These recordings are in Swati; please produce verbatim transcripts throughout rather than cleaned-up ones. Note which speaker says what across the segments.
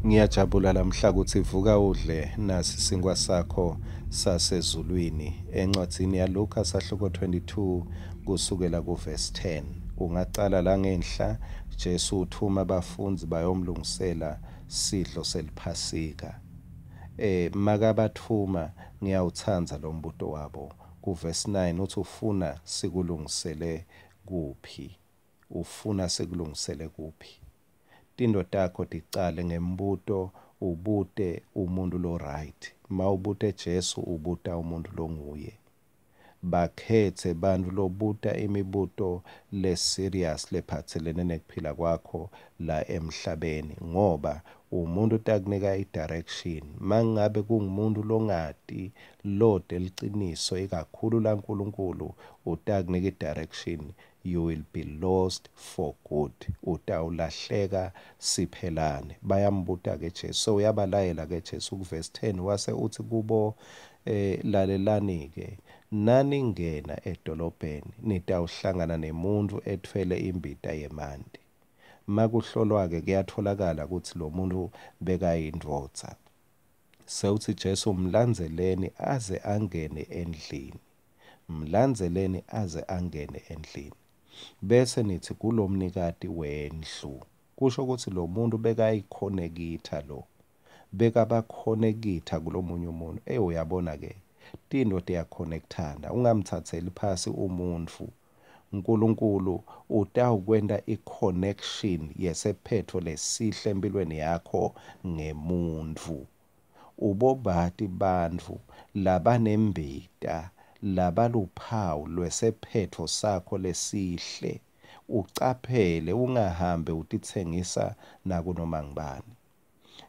Speaker 1: Ngiyajabula lamhla kutsi vuka udle nasi sinkwa sakho sasezulwini. Encwadzini yaLuka sahluko twenty-two kusukela kuvesi ten. Ungacala la ngenhla, Jesu uthuma bafundzi bayomlungisela sidlo seliphasika. Eh makabatfuma ngiyawutsandza lo mbuto wabo. Kuvesi nine uthi ufuna sikulungisele kuphi? Ufuna sikulungisele kuphi? Tinto takho ticale ngembuto, ubute umuntu lo right. Mawubute Jesu ubuta umuntu longuye. Bakhethe bantfu lobuta imibuto le serious lephatselene nekuphila kwakho la emhlabeni, ngoba umuntu utakunika i-direction. Mangabe kungumuntu longati lode liciniso ikakhulu laNkulunkulu, utakunika i-direction, you will be lost for good. Utawulahleka siphelane. Bayambuta ke Jesu, so uyabalayela ke Jesu kuvesi ten wase uthi kubo, eh lalelani ke, naningena edolobheni nitawuhlangana nemuntu ethwele imbita yemanti. Makuhlolwa ke kuyatholakala ukuthi lo muntu bekayindvodza. Sewuthi Jesu mlandzeleni aze angene endlini. Mlandzeleni aze angene endlini. Bese nithi kulomnikati wendlu. Kusho ukuthi lo muntu bekayikhonekitha lo. Bekabakhonekitha kulomunye umuntu. Eh uyabona ke, tinto tiyakhonekthana. Ungamthatheli phasi umuntu. uNkulunkulu utawukwenta i-connection yesephetho lesihle empilweni yakho ngemuntu. Ubobati bantfu labanembita, labaluphawu lwesephetho sakho lesihle. Ucaphele ungahambe utitsengisa nakunoma ngubani.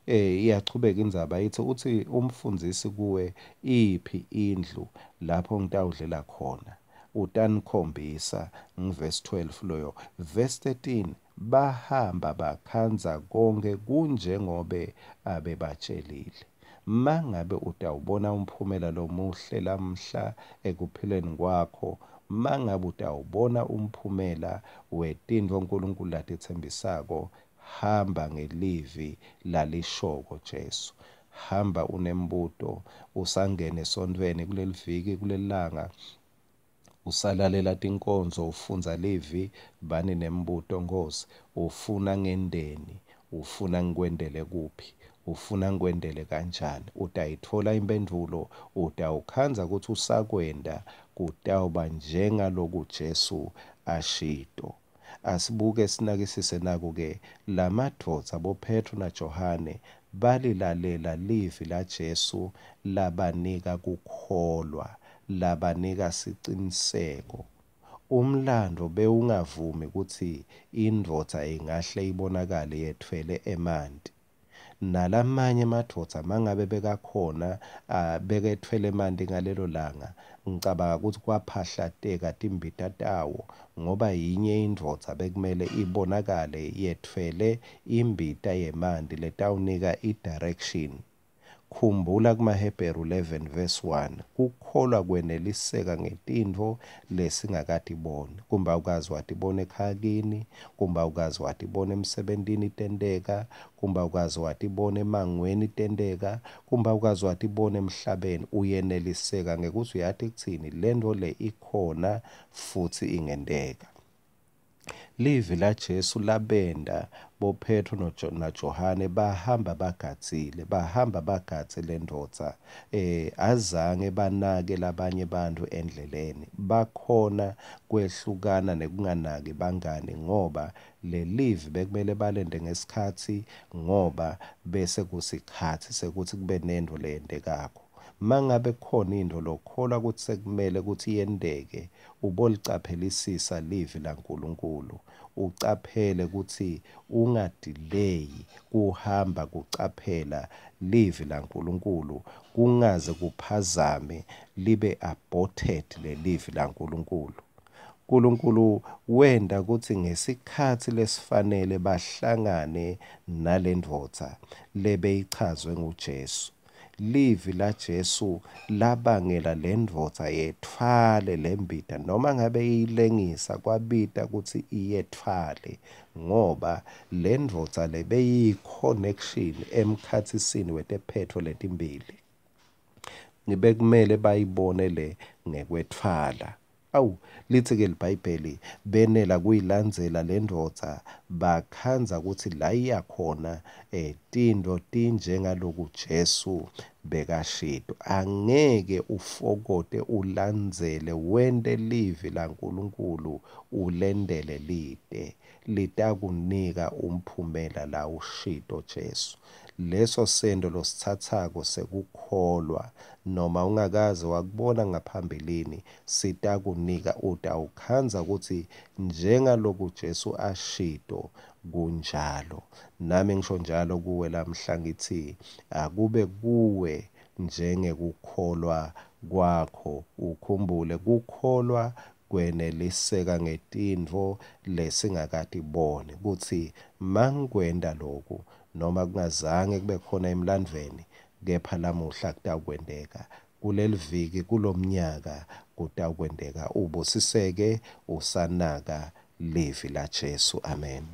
Speaker 1: Eh iyachubeka indzaba ithi uthi umfundisi kuwe iphi indlu lapho ngitawudlela khona. Utanikhombisa ngivesi twelve loyo. Verse thirteen, bahamba bakhandza konke kunjengobe abebatshelile. Mangabe utawubona umphumela lomuhle lamhla ekuphileni kwakho, mangabe utawubona umphumela wetintfo uNkulunkulu latitsembisako, hamba ngelivi lalishoko Jesu. Hamba unembuto, usangene esontfweni kuleliviki, kulelanga, usalalela tinkonzo, ufundza livi, bani nembuto, Nkosi, ufuna ngendeni, ufuna ngikwendele kuphi, ufuna ngikwendele kanjani? Utayithola impendulo, utawukhandza kutsi usakwenda kutawuba njengaloku Jesu ashito. Asibuke sinakisise naku ke, lamadvodza boPetro naJohane balilalela livi laJesu labanika kukholwa, labanika siciniseko. Umlando bewungavumi kutsi indvodza ingahle ibonakale yetfwele emanti. Nalamanye emadvodza mangabe bekakhona, beketfwele emanti ngalelo langa, ngicabanga kutsi kwaphahlateka timbita tawo, ngoba yinye indvodza bekumele ibonakale yetfwele imbita yemanti letawunika i-direction. Khumbula kumaHebheru eleven verse one, kukholwa kweneliseka ngetintfo lesingakatiboni. Kumbe awukaze watibona ekhaya kini, kumbe awukaze watibona emsebentini tenteka, kumbe awukaze watibona emangweni tenteka, kumbe awukaze watibona emhlabeni. Uyeneliseka ngekuthi uyati kutsini lento le ikhona futhi ingenteka. Livi laJesu labenda boPetro naJohane bahamba bagadzile, bahamba bagadze lendvodza. Eh azange banake labanye bantfu endleleni. Bakhona kwehlukana nekunganaki bangani, ngoba lelivi bekumele balende ngesikhatsi, ngoba bese kusikhatsi sekuthi kube nento leyentekako. Mangabe khona into lokholwa kutsi sekumele kutsi yenteke, ubolicaphelisisa livi laNkulunkulu. Ucaphele kutsi ungadelay kuhamba kucaphela livi laNkulunkulu, kungaze kuphazame libe aborted lelivi laNkulunkulu. uNkulunkulu wenda kutsi ngesikhatsi lesifanele bahlangane nalendvodza lebeyichazwe nguJesu. Livi laJesu labangela lendvodza yetfwale lembita, noma ngabe iyilengisa kwabita kutsi iyetfwale, ngoba lendvodza lebeyiyi-connection emkhatsisini wetephetfo letimbili. Bekumele bayibone le ngekwetfwala. Awu, lithi-ke liBhayibheli benela kuyilandzela lendvodza, bakhandza kutsi la iya khona eh, tintfo tinjengaloku Jesu bekashito. Angeke ufokote ulandzele wente livi laNkulunkulu ulendele lite, litakunika umphumela la ushito Jesu. Leso sento lositsatsako sekukholwa noma ungakaze wakubona ngaphambilini sitakunika, utawukhandza kutsi njengaloku Jesu ashito kunjalo. Nami ngisho njalo kuwe lamhla ngithi akube kuwe njengekukholwa kwakho. Ukhumbule kukholwa kweneliseka ngetintfo lesingakatiboni, kutsi mangikwenta loku noma kungazange kube khona emlandvweni, kepha lamuhla kutawukwenteka. Kuleliviki, kulomnyaka kutawukwenteka. Ubusiseke usanaka livi laJesu. Amen.